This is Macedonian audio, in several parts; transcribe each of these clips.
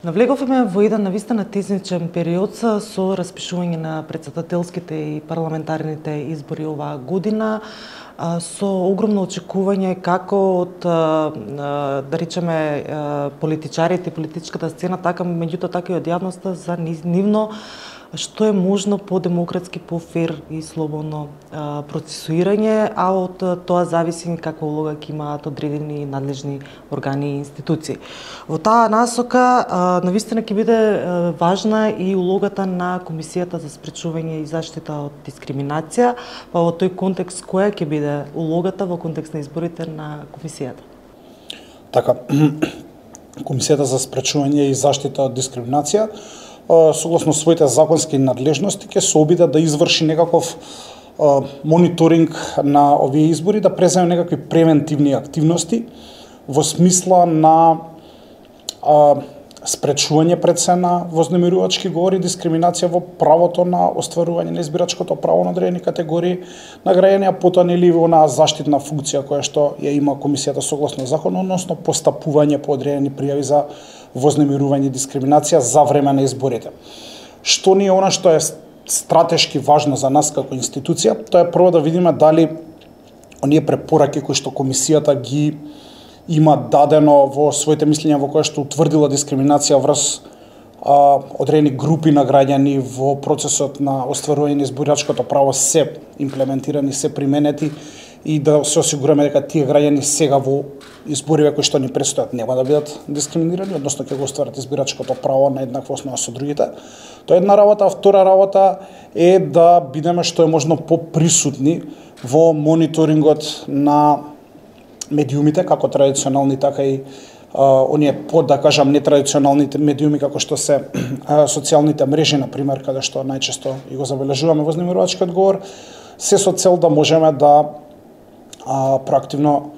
Навлеговме во еден навистина тесничен период со распишување на претседателските и парламентарните избори оваа година, со огромно очекување како од, да речеме, политичарите и политичката сцена, така меѓутоа така и од јавноста за нивно што е можно по-демократски, по-фер и слободно процесуирање, а од тоа зависи каква улога ќе имаат одредени надлежни органи и институции. Во таа насока, навистина ќе биде важна и улогата на Комисијата за спречување и заштита од дискриминација, па во тој контекст која ќе биде улогата во контекст на изборите на Комисијата? Така, Комисијата за спречување и заштита од дискриминација согласно своите законски надлежности ќе се обиде да изврши некаков мониторинг на овие избори, да преземе некакви превентивни активности во смисла на спречување пред се на вознемирувачки говори, дискриминација во правото на остварување на избирачкото право на одредени категории на граѓани, а потоа нели онаа заштитна функција која што ја има Комисијата согласно закон, односно постапување по одредени пријави за вознемирување и дискриминација за време на изборите. Што ни е она што е стратешки важно за нас како институција, тоа е прво да видиме дали оние препораки кои што Комисијата ги има дадено во своите мислења во која што утврдила дискриминација врз одредени групи на граѓани во процесот на остварување на избирачкото право се имплементирани, се применети и да се осигураме дека тие граѓани сега во избориве кои што ни предстојат нема да бидат дискриминирани, односно ќе го остварат избирачкото право на еднаква основа со другите. Тоа е една работа, а втора работа е да бидеме што е можно поприсутни во мониторингот на медиумите, како традиционални, така и оние да кажам нетрадиционалните медиуми како што се социјалните мрежи, на пример, каде што најчесто и го забележуваме вознемирувачкиот говор, се со цел да можеме да проактивно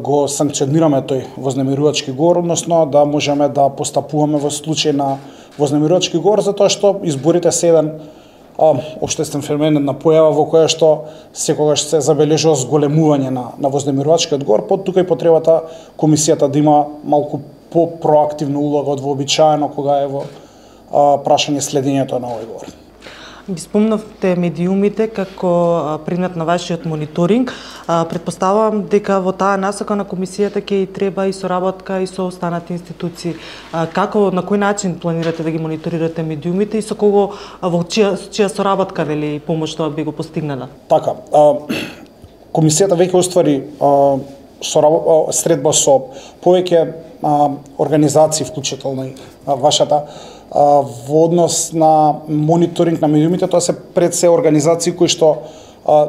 го санкционираме тој вознемирувачки говор, односно да можеме да постапуваме во случај на вознемирувачки говор, затоа што изборите се еден општествен феномен на појава во која што секогаш се забележува зголемување на вознемирувачкиот говор, тука и потребата Комисијата да има малку по-проактивна улога од вообичаено кога е во прашање следењето на овој говор. Ги спомнавте медиумите како предмет на вашиот мониторинг. Предпоставувам дека во таа насока на Комисијата ќе треба и соработка и со останати институции. Како, на кој начин планирате да ги мониторирате медиумите и со кого, во чија соработка или помош тоа би го постигнала? Така, Комисијата веќе оствари средба со повеќе организации, вклучително и вашата, во однос на мониторинг на медиумите. Тоа се пред се организации кои што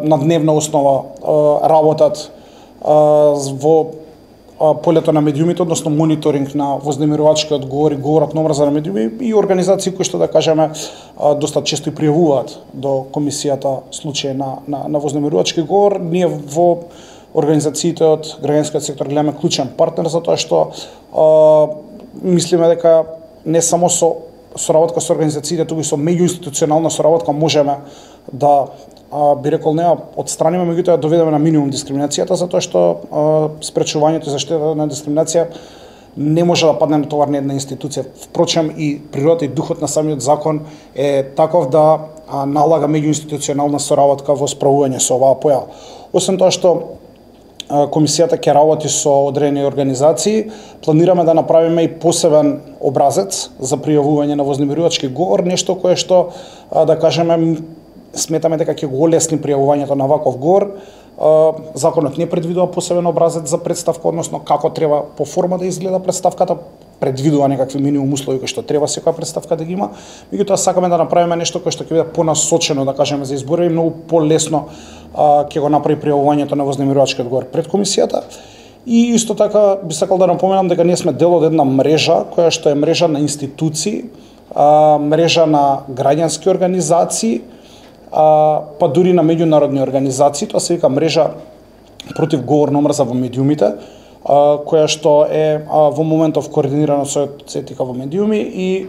на дневна основа работат во полето на медиумите, односно мониторинг на вознемирувачкиот говор и говорот на омраза на медиуми, и организации кои што, да кажеме, доста често и пријавуваат до Комисијата случаи на вознемирувачки говор. Ние во организациите од граѓанскиот сектор гледаме клучен партнер, затоа што мислиме дека не само со соработка со организациите, туку и со меѓуинституционална соработка можеме да, би рекол, не отстраниме, меѓутоа доведеме на минимум дискриминацијата, затоа што спречувањето и заштитата на дискриминација не може да падне на товар на една институција. Впрочем, и природата и духот на самиот закон е таков да налага меѓуинституционална соработка во справување со оваа појава. Освен тоа што Комисијата ќе работи со одредени организации, планираме да направиме и посебен образец за пријавување на вознемирувачки говор, нешто кое што, да кажеме, сметаме дека ќе го олесни пријавувањето на ваков говор. Законот не предвидува посебен образец за представка, односно како треба по форма да изгледа представката, предвидува некакви минимум услови кои што треба секоја представка да ги има. Меѓутоа сакаме да направиме нешто кое што ќе биде понасочено, да кажеме, за избори и многу полесно ќе го направи пријавувањето на вознемирувачкиот говор пред Комисијата. И исто така би сакал да напоменам дека ние сме дел од една мрежа која што е мрежа на институции, мрежа на граѓански организации, па дури на меѓународни организации. Тоа се вика мрежа против говор на омраза во медиумите, која што е во моментов координирана со етика во медиуми, и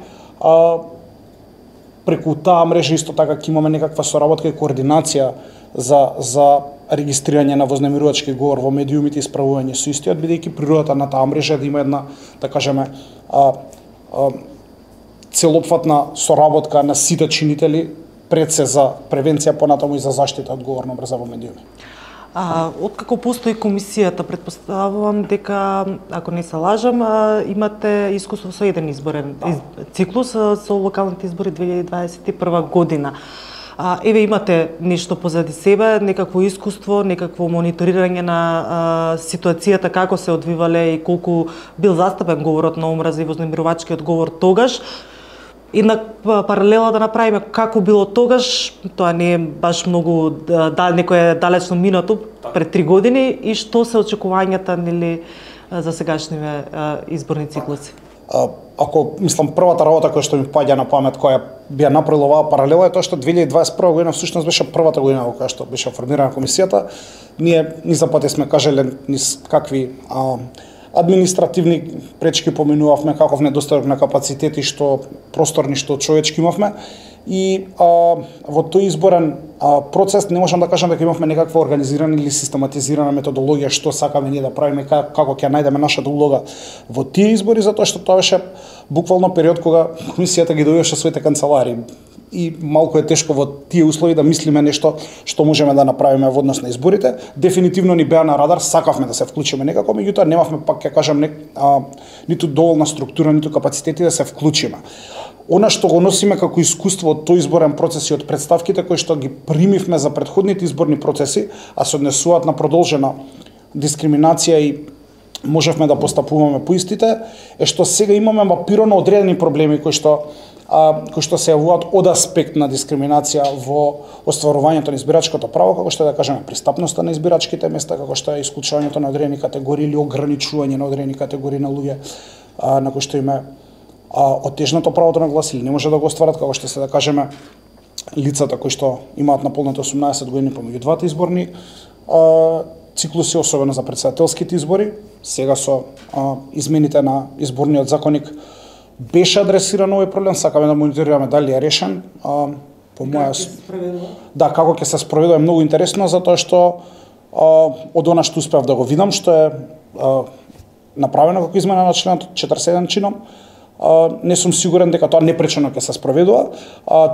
преку таа мрежа исто така ќе имаме некаква соработка и координација за регистрирање на вознемирувачки говор во медиумите и справување со истиот, бидејќи природата на таа мрежа да има една, да кажеме, целопфатна соработка на сите чинители, пред се за превенција, понатаму и за заштита од говорна омраза во медиуми. Откако постои комисијата, предпоставувам дека, ако не се лажам, имате искуство со еден изборен циклус со локалните избори 2021 година. Еве имате нешто позади себе, некакво искуство, некакво мониторирање на ситуацијата, како се одвивале и колку бил застапен говорот на омраза и вознемирувачкиот говор тогаш. Една паралела да направиме како било тогаш, тоа не е баш многу некое далечно минато, пред 3 години, и што се очекувањата нели за сегашниве изборни циклуси? Ако мислам првата работа која што ми паѓа на памет која би ја направила оваа паралела е тоа што 2021 година всушност беше првата година во која што беше формирана комисијата. Ние ни за пати сме кажале низ какви административни пречки поминувавме, каков недостаток на капацитети, што просторни, што човечки имавме. И во тој изборен процес не можам да кажам дека имавме некаква организирана или систематизирана методологија што сакаме ние да правиме, како ќе најдеме нашата улога во тие избори, затоа што тоа беше буквално период кога комисијата ги дојдеше своите канцелари. И малку е тешко во тие услови да мислиме нешто што можеме да направиме во однос на изборите. Дефинитивно ни беа на радар, сакавме да се вклучиме некако, меѓутоа немавме, пак ќе кажам, ниту доволна структура, ниту капацитети да се вклучиме. Она што го носиме како искуство од тој изборен процес и од представките кои што ги примивме за претходните изборни процеси, а се однесуваат на продолжена дискриминација и можевме да постапуваме по истите, е што сега имаме мапирано одредени проблеми кои што се јавуваат од аспект на дискриминација во остварувањето на избирачкото право, како што да кажеме пристапноста на избирачките места, како што е исклучувањето на одредени категории или ограничување на одредени категории на луѓе на кои што има оттежнато правото на глас или не може да го остварат, како што се да кажеме лицата кои што имаат наполнати 18 години помеѓу двата изборни циклуси, особено за претседателските избори. Сега со измените на изборниот законник беше адресиран овој проблем, сакаме да мониторираме дали е решен. По моја да, како ќе се спроведува е многу интересно, затоа што од она што успеав да го видам, што е направено како измена на членот 47 чином, не сум сигурен дека тоа непречено ќе се спроведува.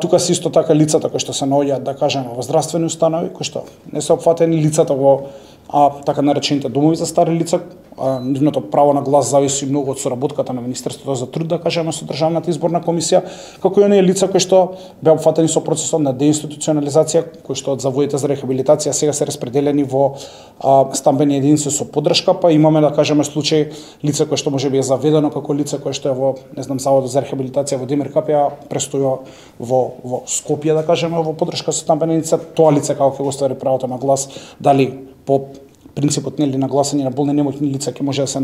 Тука се исто така лицата кои што се наоѓаат, да кажеме, во здравствени установи, кои што не се опфатени, лицата во така наречените домови за стари лица, нивното право на глас зависи многу од соработката на Министерството за труд, да кажеме, со Државната изборна комисија, како и оние лица кои што беа опфатени со процесот на деинституционализација, кои што од заводите за рехабилитација сега се распределени во стамбени единици со поддршка, па имаме, да кажеме, случај лица кои што можеби е заведено како лице кои што е во, не знам, заводот за рехабилитација во Демир Капија, престојува во Скопје, да кажеме, во поддршка со стамбена единица, тоа лице како ќе го оствари правото на глас, дали по принципот нели на гласање на болни немоќни лица ќе може да се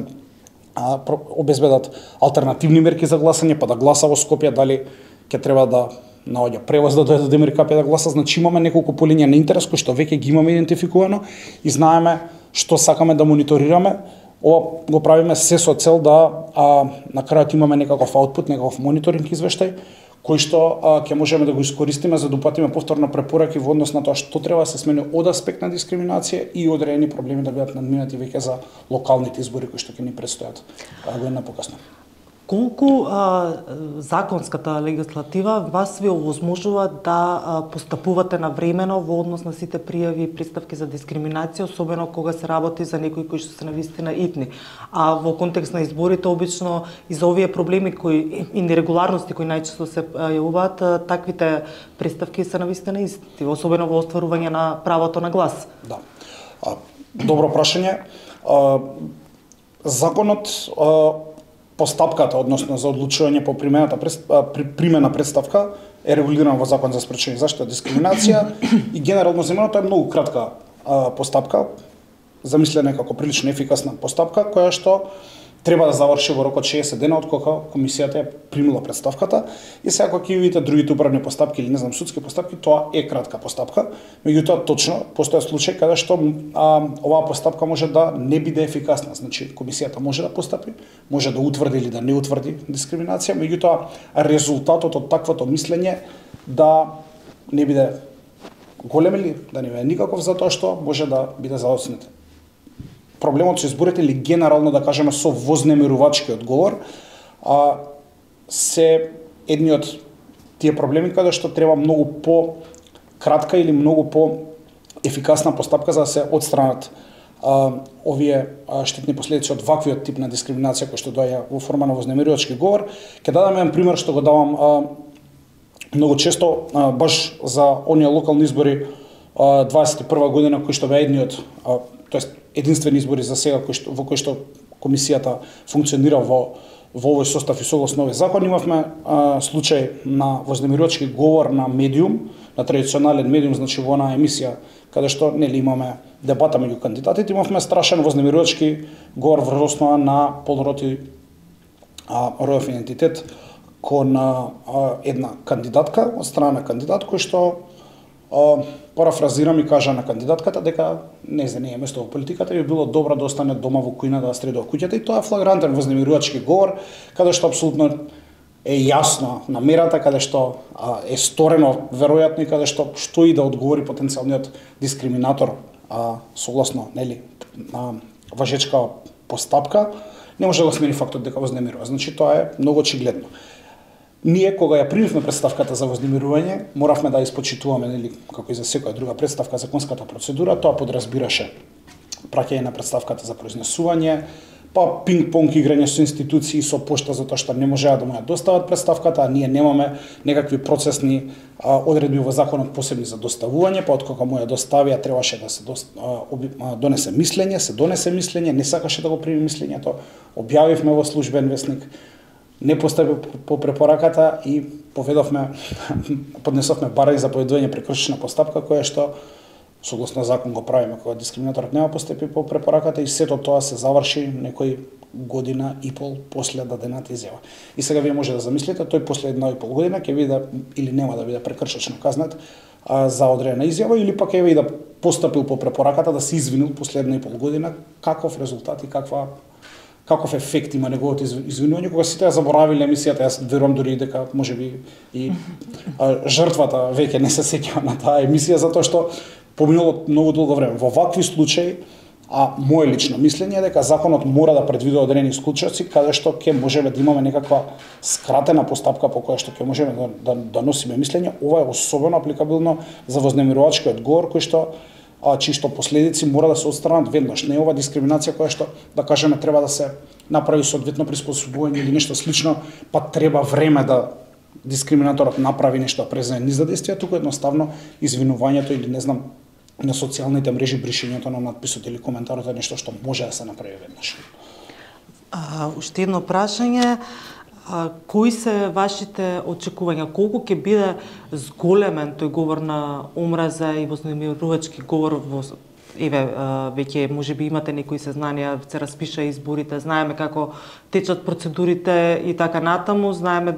обезбедат алтернативни мерки за гласање, па да гласа во Скопје, дали ќе треба да наоѓа превоз да дојде до Демир Капија да гласа. Значи имаме неколку полиња на интерес кои што веќе ги имаме идентификувано и знаеме што сакаме да мониторираме. Ова го правиме се со цел да на крајот имаме некаков аутпут, некаков мониторинг извештај кој што ќе можеме да го искористиме за да упатиме повторно препораки во однос на тоа што треба да се смени од аспект на дискриминација и одредени проблеми да бидат надминати веќе за локалните избори кои што ќе ни предстојат година покасно. Колку законската легислатива вас ви овозможува да постапувате навремено во однос на сите пријави и приставки за дискриминација, особено кога се работи за некои кои што се навистина итни. А во контекст на изборите, обично и за овие проблеми и нерегуларности кои најчесто се јавуваат, таквите приставки се навистина исти, особено во остварување на правото на глас. Да. Добро прашање. Законот постапката, односно за одлучување по примена представка е регулирана во Закон за спречување и заштита од дискриминација и генерално земено тоа е многу кратка постапка, замислена како прилично ефикасна постапка која што треба да заврши во рок од 60 дена од кога комисијата е примила представката и сега кога ќе видите другите управни постапки или не знам судски постапки, тоа е кратка постапка. Меѓутоа точно постојат случаи каде што оваа постапка може да не биде ефикасна. Значи комисијата може да постапи, може да утврди или да не утврди дискриминација, меѓутоа резултатот од таквото мислење да не биде голем или да не биде никаков, затоа што може да биде заоцнет. Проблемот со изборите или генерално да кажеме со вознемирувачкиот говор се едни од тие проблеми каде што треба многу по кратка или многу по ефикасна постапка за да се отстранат овие штетни последици од ваквиот тип на дискриминација кој што доаѓа во форма на вознемирувачки говор. Ќе дадам еден пример што го давам многу често баш за оние локални избори 21 година кои што беа едни од тоест единствени избори за сега во кои што комисијата функционира во овој состав и согласно овој закон. Имавме случај на вознемирувачки говор на медиум, на традиционален медиум, значи во онаа емисија каде што нели имаме дебата меѓу кандидатите, имавме страшен вознемирувачки говор врз основа на полурод и родов идентитет кон една кандидатка од страна на кандидат кој што парафразирам и кажа на кандидатката дека не е место во политиката и би било добро да остане дома во кујна да средува куќата, и тоа е флагрантен вознемирувачки говор каде што апсолутно е јасно намерата, каде што е сторено веројатно и каде што и да одговори потенцијалниот дискриминатор согласно нели важечка постапка, не може да го смени фактот дека вознемирува. Значи тоа е многу очигледно. Ние кога ја примивме представката за вознемирување, моравме да испочитуваме нели како и за секоја друга представка законската процедура. Тоа подразбираше праќање на представката за произнесување, па пинг-понг играње со институции, со пошта, затоа што не можеа да му ја достават представката, а ние немаме некакви процесни одредби во законот посебни за доставување, па откога му ја доставија требаше да се донесе мислење, не сакаше да го прими мислењето, објавивме во службен весник, не постапи по препораката и поднесовме барање за поведување прекршечна постапка која што согласно закон го правиме кога дискриминаторот нема постапи по препораката, и сето тоа се заврши некој година и пол после дадената изјава. И сега вие може да замислите, тој после 1,5 година ќе биде или нема да биде прекршечно казнет за одредена изјава, или пак еве и да постапил по препораката, да се извинил после 1,5 година, каков резултат и каков ефект има неговото извинување, кога сите ја заборавиле емисијата. Јас верувам дури дека можеби и жртвата веќе не се сеќава на таа емисија, затоа што поминало многу долго време. Во вакви случаи, моје лично мислење е дека законот мора да предвидува одредени случаи каде што ќе можеме да имаме некаква скратена постапка по која што ќе можеме да носиме мислење. Ова е особено апликабилно за вознемирувачкиот говор кој што чии што последици мора да се отстранат веднаш. Не е ова дискриминација која што, да кажеме, треба да се направи соодветно приспособување или нешто слично, па треба време да дискриминаторот направи нешто да преземе низ задействие, туку едноставно извинувањето или не знам на социјалните мрежи бришењето на надписот или коментарот е нешто што може да се направи веднаш. Уште едно прашање. Кои се вашите очекувања? Колку ќе биде зголемен тој говор на омраза и вознемирувачки говор во веќе можеби имате некои сезнанија, се распиша изборите, знаеме како течат процедурите и така натаму, знаеме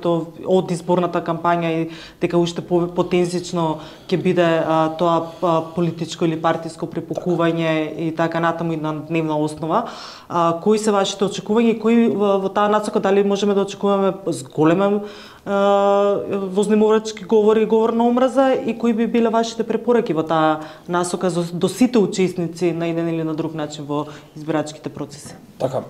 од изборната кампања и дека уште потензично ќе биде тоа политичко или партиско препукување и така натаму и на дневна основа. Кои се вашите очекувања и кои во таа насока дали можеме да очекуваме зголемен вознемирувачки говор и говор на омраза, и кои би биле вашите препораки во таа насока до сите учесници на еден или на друг начин во избирачките процеси? Така,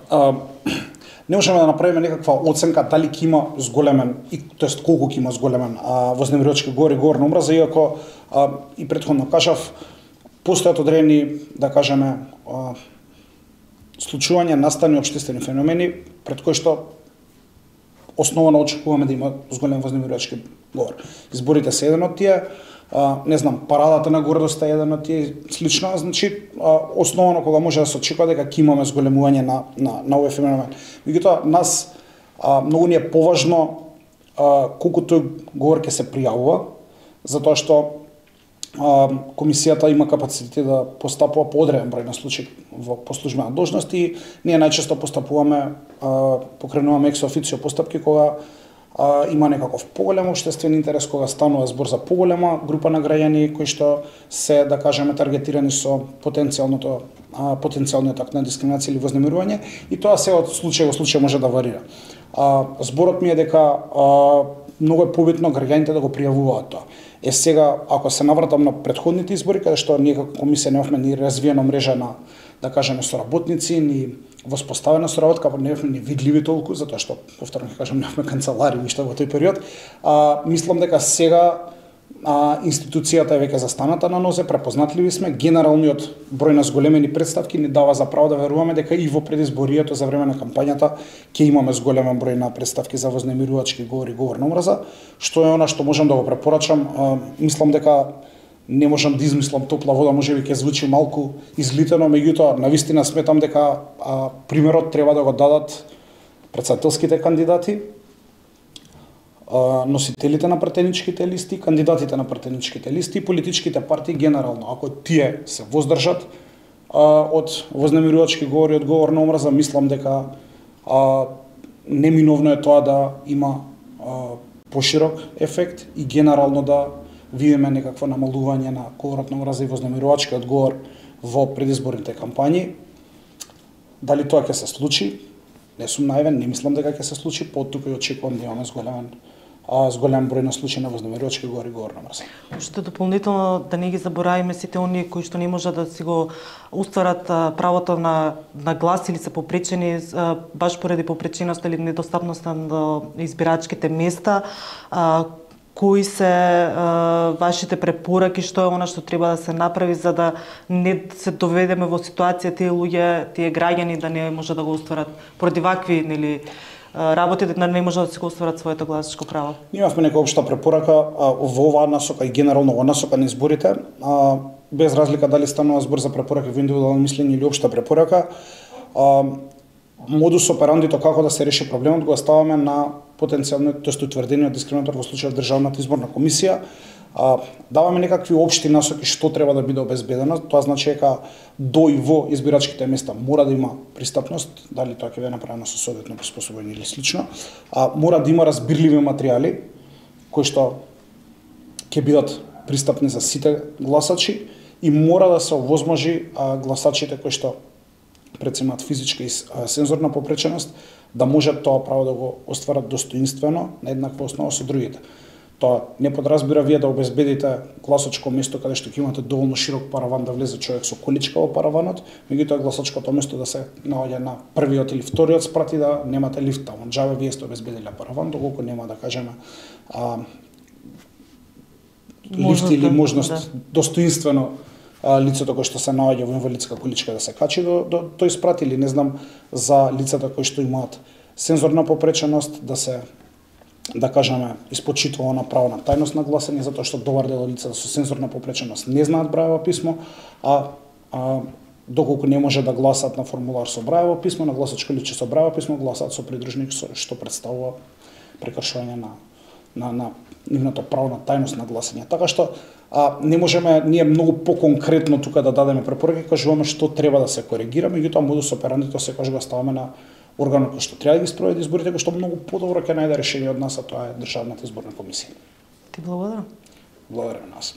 не можеме да направиме некаква оценка дали ќе има зголемен, тоест колку ќе има зголемен вознемирувачки говор и говор на омраза, иако и претходно кажав, постојат одредени, да кажеме, случувања, настани општествени феномени пред кои што основано очекуваме да има зголем вознемирувачки говор. Изборите се еден од тие, не знам, парадата на гордоста е еден од тие слично, значи основано кога може да се очекува дека ќе имаме зголемување на овој феномен. Меѓутоа, нас многу ни е поважно колку тој говор ќе се пријавува, затоа што комисијата има капацитет да постапува по одреден број на случаи по службена должност и ние најчесто постапуваме, покренуваме екс официо постапки кога има некаков поголем општествен интерес, кога станува збор за поголема група на граѓани кои што се, да кажеме, таргетирани со потенцијалниот акт на дискриминација или вознемирување, и тоа се од случај во случај може да варира. Зборот ми е дека многу е побитно граѓаните да го пријавуваат тоа. Сега, ако се навратам на претходните избори, каде што ние како комисија немавме ни развиена мрежа на, да кажеме, соработници, ни воспоставена соработка, немавме ни видливи толку, затоа што, повторно ќе кажам, немавме канцелари уште во тој период. Мислам дека сега институцијата е веќе застаната на нозе, препознатливи сме, генералниот број на зголемени представки ни дава за право да веруваме дека и во предизборието за време на кампањата ќе имаме зголемен број на представки за вознемирувачки говори, говор на омраза, што е она што можам да го препорачам. Мислам дека не можам да измислам топла вода, можеби ќе звучи малку излитено, меѓутоа навистина сметам дека примерот треба да го дадат претседателските кандидати, носителите на претеничките листи, кандидатите на претеничките листи и политичките партии генерално. Ако тие се воздржат од вознемирувачки говори, од говор на омраза, мислам дека неминовно е тоа да има поширок ефект и генерално да видиме некакво намалување на говорот на омраза и вознемирувачкиот говор во предизборните кампањи. Дали тоа ќе се случи? Не сум наивен, не мислам дека ќе се случи, поттука и очекувам да имаме зголем број на случаи на вознемирувачки говори и говор на омраза. Уште дополнително да не ги заборавиме сите оние кои што не можат да си го устварат правото на глас или се попречени баш поради попреченост или недостапноста на избирачките места. Кои се вашите препораки, што е она што треба да се направи за да не се доведеме во ситуација тие луѓе, тие граѓани да не можат да го остварат поради вакви работи, да не можат да си го остварат своето гласачко право? Ние имавме нека општа препорака во оваа насока и генерално во насока на изборите, без разлика дали станува збор за препорака во индивидуално мислење или општа препорака. Модус операндито како да се реши проблемот го оставаме на потенцијалниот, тоест утврдениот дискриминатор во случајот Државната изборна комисија. Даваме некакви општи насоки што треба да биде обезбедено. Тоа значи дека до и во избирачките места мора да има пристапност, дали тоа ќе биде направено со соодветно приспособување или слично. Мора да има разбирливи материјали кои што ќе бидат пристапни за сите гласачи и мора да се овозможи гласачите кои што прецимаат физичка и сензорна попреченост да можат тоа право да го остварат достоинствено на еднаква основа со другите. Тоа не подразбира вие да обезбедите гласачко место каде што ќе имате доволно широк параван да влезе човек со количка во параванот, меѓутоа гласачкото место да се наоѓа на првиот или вториот спрат и да немате лифт таму. Џабе вие сте обезбедиле параван, доколку нема да кажеме лифт или можност достоинствено лицето кој што се наоѓа во инвалидска количка да се качи до тој спрат, или не знам за лицата кои што имаат сензорна попреченост да се, да кажеме, испочитува на право на тајност на гласање, затоа што добар дел од лицата со сензорна попреченост не знаат брајево писмо, доколку не може да гласат на формулар со брајево писмо, на гласачко личе со брајево писмо, гласаат со придружник, што представува прекршување на нивното право на тајност на гласање. Така што не можеме ние многу поконкретно тука да дадеме препораки, кажуваме што треба да се коригира, меѓутоа модус операндито секогаш го ставаме на органот кој што треба да ги спроведе изборите, кој што многу подобро ќе најде решение од нас, а тоа е Државната изборна комисија. Ти благодарам. Благодарам нас.